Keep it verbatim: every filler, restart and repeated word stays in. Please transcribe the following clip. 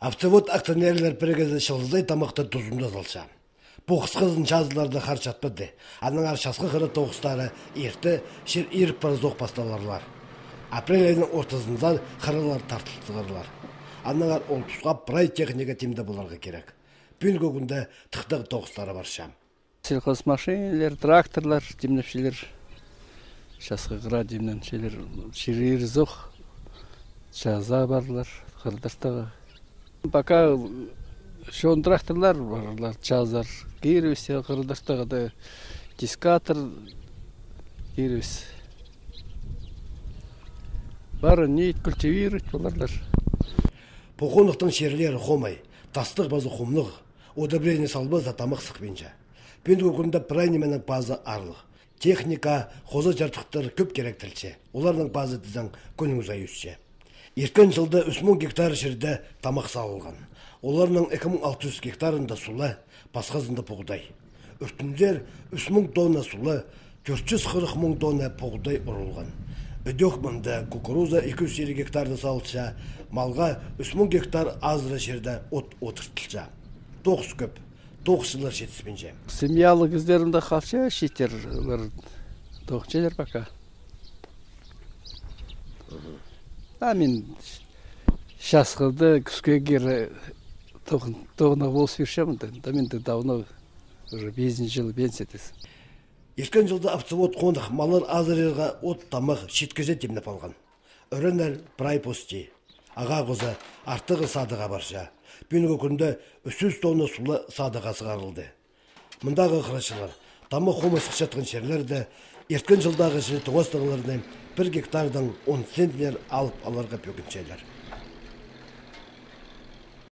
Автовод акционерлер бірігізі шылыздай тамақты тұзымда залша. Бұл қысқызын жазыларды қарчатпады. Аның аршасқы қыры тоғыстары ерті шер еріп бары зоқ басталарлар. Апрель айының ортасында қырылар тартылтығырлар. Аныңар ол тұсқа прай техника темді бұларға керек. Бүн көгінде тұқтығы тоғыстары бар шам. Сельхоз машинелер, тракторлар, демнепшелер, шасқы қыра демнен шелер, шерер зоқ, жаза барлар, қырдыртығы. Пока шон тракторлар барлар, жазар, керевесе, қырдыртығы да, дискатор, керевесе. Бары нейт культивировать боларлар. Поқонықтың шерлері қомай, тастық базы қомлық, удобрение салбы затамық сықпенші. Пенді көкінде прайнеменің базы арлық. Техника, қозы жартықтыр көп керектілші. Олардың базы дізің көніңіз айысшы. Еркен жылда үш мың гектар жерде тамақ салылған. Оларның екі мың алты жүз гектарында сулы, басқазында бұғдай. Өртіндер үш мың тонна сулы, төрт жүз қырық мың тонна бұғдай ұрылған. Өдек мұнда кукуруза екі жүз елу гектарды салылша, малға үш мың гектар азыры жерде от отыртылша. Тоғыз көп, тоғыз жылар жетіспенше. Семьялы кездерімді қалша шетер, тоғыз елер бақа. А мен шасқылды күске кері тоғына болсы бершемін. Да мен де давно уже бесінші жылы бенсетесің. Еркен жылда автовод қондық малар азырыға от тамақ шеткезе темнеп алған. Өренер прай пости, аға қозы артығы садыға барша. Бүйінгі күнді үш жүз тонна сулы садыға сығарылды. Мұндағы қырашылар, тамақ қомы сықшатқан шерлерді еркен жылдағы жылы тоғыз тағыларынан бір гектардан он центнер алып аларға бөгіншелер.